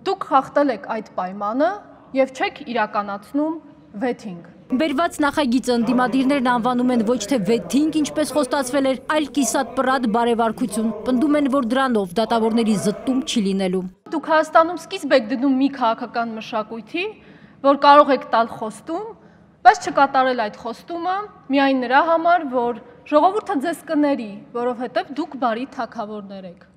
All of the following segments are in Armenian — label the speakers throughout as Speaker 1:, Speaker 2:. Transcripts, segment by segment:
Speaker 1: Դուք խախտել եք այդ պայմանը եւ չեք իրականացնում վեթինգ։
Speaker 2: Բերված նախագիծը ընդդիմադիրներն անվանում են ոչ թե վեթինգ, ինչպես խոստացվել էր, այլ կիսատ պռատ բարևարկություն։ Պնդում են, որ դրանով դատավորների զտում չի լինելու։
Speaker 1: Դուք Հայաստանում սկիզբ եք դնում մի քաղաքական մշակույթի, որ կարող եք տալ խոստում, բայց չկատարել այդ խոստումը միայն նրա համար, որ ժողովուրդը ձեզ կների, որովհետև դուք բարի թագավորներ եք։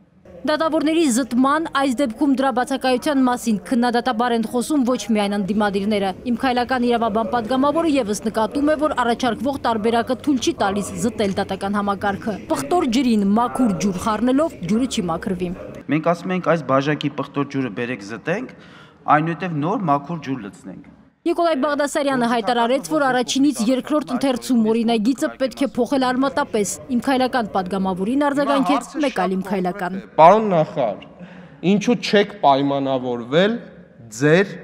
Speaker 2: Դատավորների զտման, այս դեպքում դրա բացակայության մասին քննադատաբար են խոսում ոչ միայն ընդդիմադիրները։ Իմ քայլական իրավաբան պատգամավորը եւս նկատում է, որ առաջարկվող տարբերակը թույլ չի տալիս զտել դատական համակարգը։ Պղտոր ջրին մաքուր ջուր խառնելով ջուրը չի մաքրվի։
Speaker 3: Մենք ասում ենք այս բաժակի պղտոր ջուրը բերեք զտենք, այնուհետև նոր մաքուր ջուր լցնենք։
Speaker 2: Նիկոլայ Բաղդասարյանը հայտարարեց, որ առաջինից երկրորդ ընթերցում օրինագիծը պետք է փոխել արմատապես։ Իմ քայլական պատգամավորին արձագանքեց մեկ այլ իմ քայլական։
Speaker 4: Պարոն նախարար, ինչու չեք պայմանավորվել ձեր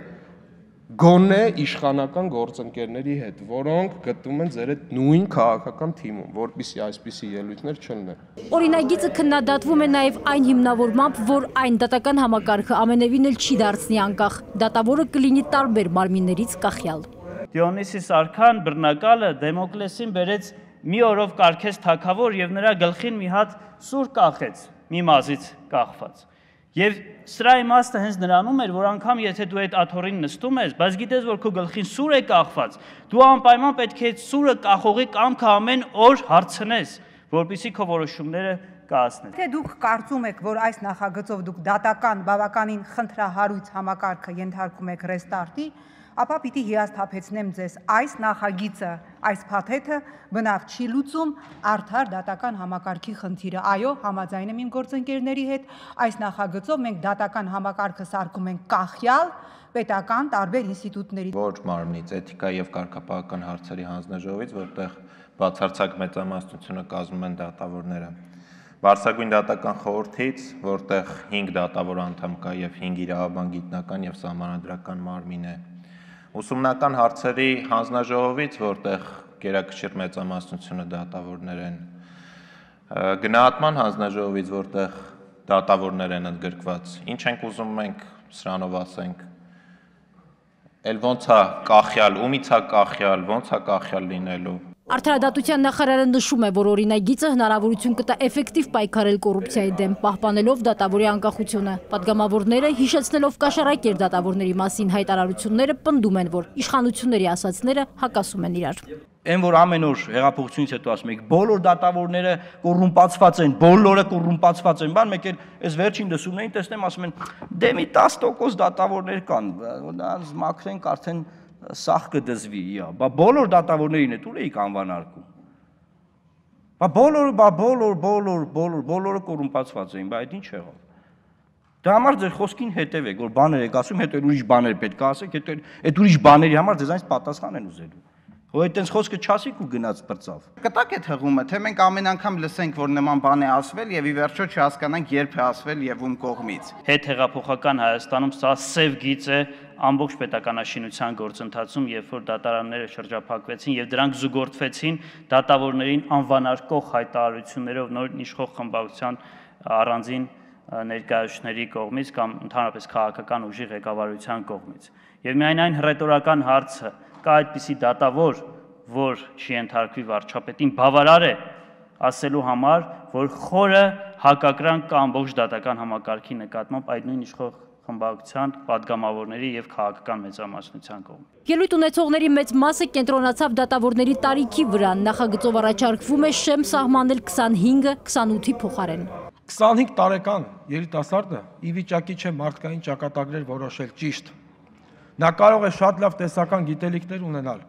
Speaker 4: գոնե իշխանական գործընկերների հետ, որոնք գտնվում են ձեր այդ նույն քաղաքական թիմում, որպեսզի այսպիսի ելույթներ չլինեն։
Speaker 2: Օրինագիծը քննադատվում է նաև այն հիմնավորմամբ, որ այն դատական համակարգը ամենևին էլ չի դարձնի անկախ։ Դատավորը կլինի տարբեր մարմիններից կախյալ։
Speaker 5: Դիոնիսիս արքան բռնակալը Դեմոկլեսին բերեց մի օրով կարգեց թագավոր եւ նրա գլխին մի հատ սուր կախեց, մի մազից կախված։ Եվ սրա իմաստը հենց նրանում էր, որ անգամ եթե դու այդ աթոռին նստում ես, բայց գիտես, որ քո գլխին սուր է կախված, դու անպայման պետք է այդ սուրը կախողի կամքը ամեն օր հարցնես, որպեսզի քո որոշումները կայացնես։
Speaker 6: Թե դուք կարծում եք, որ այս նախագծով դուք դատական բավականին խնդրահարույց համակարգը ենթարկում եք ռեստարտի, ապա պիտի հիասթափեցնեմ ձեզ, այս նախագիծը, այս փաթեթը բնավ չի լուծում արդար դատական համակարգի խնդիրը։ Այո, համաձայն եմ իմ գործընկերների հետ, այս նախագծով մենք դատական համակարգը սարքում ենք կախյալ պետական տարբեր ինստիտուտների։
Speaker 7: Ոչ մարմնից, էթիկա եւ կարգապահական հարցերի հանձնաժողովից, որտեղ բացարձակ մեծամասնությունը կազմում են դատավորները։ Վարսագույն դատական խորհրդից, որտեղ 5 դատավոր անդամ կա եւ 5 իրավաբան գիտնական եւ սահմանադրական մարմին է։ Ուսումնական հարցերի հանձնաժողովից, որտեղ գերակշիռ մեծամասնությունը դատավորներ են, գնահատման հանձնաժողովից, որտեղ դատավորներ են ընդգրկված, ինչ ենք ուզում մենք սրանով ասենք, էլ ոնց է կախյալ, ումից է կախյալ, ոնց է կախյալ լինելու։
Speaker 2: Արդարադատության նախարարը նշում է, որ օրինագիծը հնարավորություն կտա էֆեկտիվ պայքարել կոռուպցիայի դեմ, պահպանելով դատավորի անկախությունը։ Պատգամավորները, հիշեցնելով կաշառակեր դատավորների մասին հայտարարությունները, պնդում են, որ իշխանությունների ասածները հակասում են իրար։
Speaker 5: Այն որ ամեն օր հեղափոխությունից հետո ասում եք, բոլոր դատավորները կոռումպացված են, բոլորը կոռումպացված են, բան մեկ էլ այս վերջին լսումներին տեսնեմ ասում են, դե մի 10% դատավորներ կան, նրանց մաքրենք արդեն սախ կդզվի, բա բոլոր դատավորներին է դուր էիք անվանարկում։ Բա բոլորը կոռումպացված էին, բա այդ ինչ եղավ։ Դա համար ձեր խոսքին հետևեք, որ բաներ եք ասում, հետո ուրիշ բաներ պետք է ասեք, հետո այդ ուրիշ բաների համար ձեզանից պատասխան են ուզելու։ Ու այդտենց խոսքը չասիք ու գնաց բրծավ։
Speaker 8: Կտակ այդ հղումը, թե մենք ամեն անգամ լսենք, որ նման բան է ասվել եւ ի վերջո չհասկանանք երբ է ասվել եւ ում կողմից։
Speaker 5: Հետ հեղափոխական Հայաստանում սա սև գիծ է ամբողջ պետականաշինության գործընթացում, երբ որ դատարանները շրջափակվեցին եւ դրանք զուգորդվեցին դատավորներին անվանարկող հայտարարություններով նոր իշխող խմբակցության առանձին ներկայացուցիչների կողմից կամ ընդհանրապես քաղաքական ուժի ղեկավարության կողմից։ Եվ միայն այն հռետորական հարցը կա այդպիսի դատավոր, որ չի ենթարկվի վարչապետին, բավարար է ասելու համար, որ խորը հակակրանք կա ամբողջ դատական համակարգի նկատմամբ այդ նույն իշխող խմբակցության, պատգամավորների եւ քաղաքական մեծամասնության կողմից։
Speaker 2: Ելույթ ունեցողների մեծ մասը կենտրոնացավ դատավորների տարիքի վրա, նախագծով առաջարկվում է շեմ սահմանել 25-ը 28-ի փոխարեն։
Speaker 9: 25 տարեկան երիտասարդը ի վիճակի չէ մարդկային ճակատագրեր որոշել ճիշտ։ Նա կարող է շատ լավ տեսական գիտելիքներ ունենալ,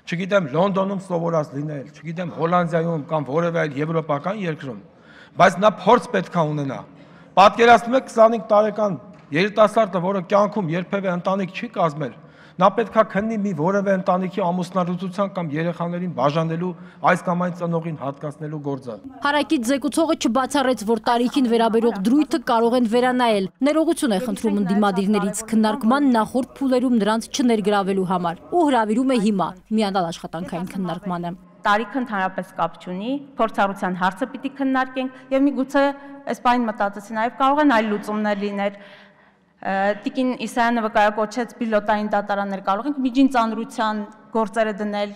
Speaker 9: չգիտեմ Լոնդոնում սովորած լինել, չգիտեմ Հոլանդիայում կամ որևէ այլ եվրոպական երկրում, բայց նա փորձ պետք է ունենա։ Պատկերացնում եք 25 տարեկան երիտասարդը, որը կյանքում երբևէ ընտանիք չի կազմել, նա պետք է քննի մի որևէ ընտանիքի ամուսնալուծության կամ երեխաներին բաժանելու այս կամ այն ծնողին հատկացնելու գործը։
Speaker 2: Հարակից զեկուցողը չբացառեց, որ տարիքին վերաբերող դրույթը կարող են վերանայել։ Ներողություն է խնդրում ընդդիմադիրներից քննարկման նախորդ փուլերում նրանց չներգրավելու համար ու հրավիրում է հիմա միանալ աշխատանքային քննարկմանը։
Speaker 10: Տարիքը ընդհանրապես կապ չունի, փորձառության հարցը պիտի քննարկենք եւ միգուցե այս բանին մտածեցի նաեւ կարող են այլ լուծումներ լինել։ Տիկին Իսայանովը կայակոչեց պիլոտային դատարաններ, կարող ենք միջին ծանրության գործերը դնել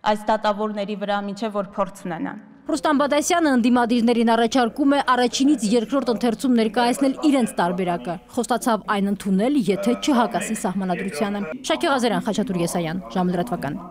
Speaker 10: այս դատավորների վրա, մինչև որ փորձ ունենան։
Speaker 2: Ռուստամ Բադասյանը ընդդիմադիրներին առաջարկում է առաջինից երկրորդ ընթերցում ներկայացնել իրենց տարբերակը։ Խոստացավ այն ընդունել, եթե չհակասի սահմանադրությանը։ Շակե Ղազարյան, Խաչատուր Եսայան, ժամը լրատվական։